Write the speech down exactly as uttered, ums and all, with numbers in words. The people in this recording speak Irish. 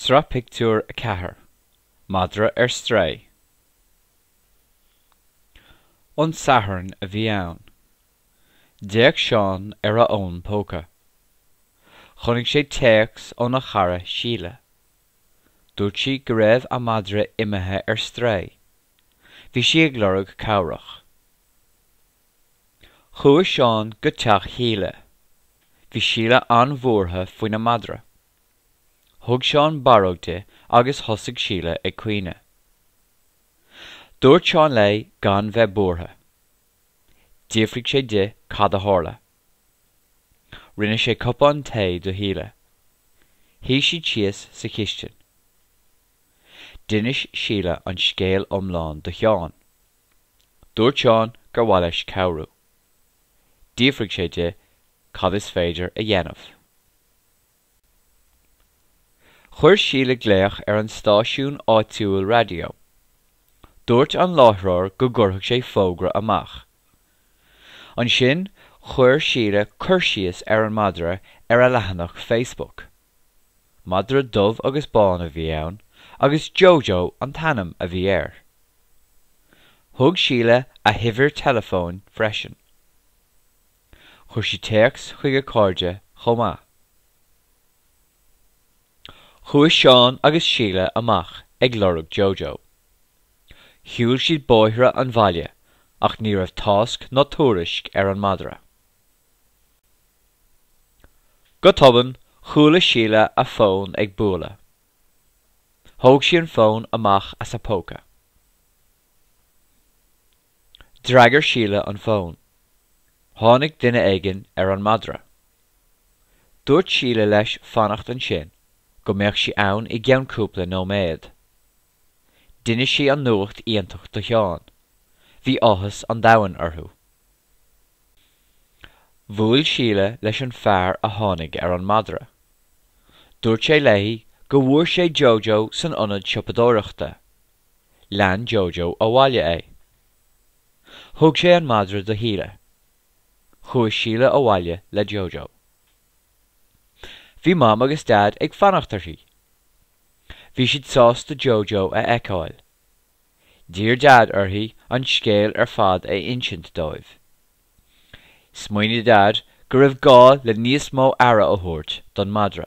Sraith Pictiúr a ceathair Madra ar Strae An Satharn a bhí ann. D'fhéach Seán ar a fhón póca. Chonaic sé téacs óna chara Síle. Dúirt sí go raibh a madra imithe ar strae. Bhí sí ag lorg cabhrach. Chuaigh Seán go teach Shíle. Bhí Síle an-bhuartha faoina madra. Thug Seán barróg di agus thosaigh Síle ag caoineadh. Dúirt Seán léi gan bheith buartha. D'fhiafraigh sé di cad a tharla. Rinne sé cupán tae do Shíle. Shuigh siad síos sa chistin. D'inis Síle an scéal iomlán do Sheán. Dúirt Seán gur mhaith leis cabhrú. D'fhiafraigh sé di cad is féidir a dhéanamh. Chuir Síle glaoch ar an stáisiún áitiúil raidió. Dúirt an láithreoir go gcuirfeadh sé fógra amach. Ansin chuir Síle cur síos ar an madra ar a leathanach Facebook. Madra dubh agus bán a bhí ann, agus Jojo an t-ainm a bhí air. Thug Síle a huimhir teileafóin freisin. Chuir sí téacs chuig a cairde chomh maith. Chuaigh Seán agus Síle amach ag lorg Jojo. Shiúil siad bóithre an bhaile ach ní raibh tásc ná tuairisc ar an madra. Go tobann chuala Síle a fón ag bualadh. Thóg sí an fón amach as a póca. D'fhreagair Síle an fón. Tháinig duine éigin ar an madra. Dúirt Síle leis fanacht ansin go mbeadh sí ann i gceann cúpla nóiméad. D'inis sí an nuacht iontach do Sheán. Bhí áthas an domhain orthu. Bhuail Síle leis an fear a tháinig ar an madra. Dúirt sé léi go bhfuair sé Jojo san ionad siopadóireachta. Lean Jojo abhaile é. Thug sé an madra do Shíle. Chuaigh Síle abhaile le Jojo. Bhí Mam agus Dad ag fanacht uirthi. Bhí siad sásta Jojo a fheiceáil. D'iarr Dad uirthi an scéal ar fad a insint dóibh. Smaoinigh Dad go raibh gá le níos mó aire a thabhairt don madra.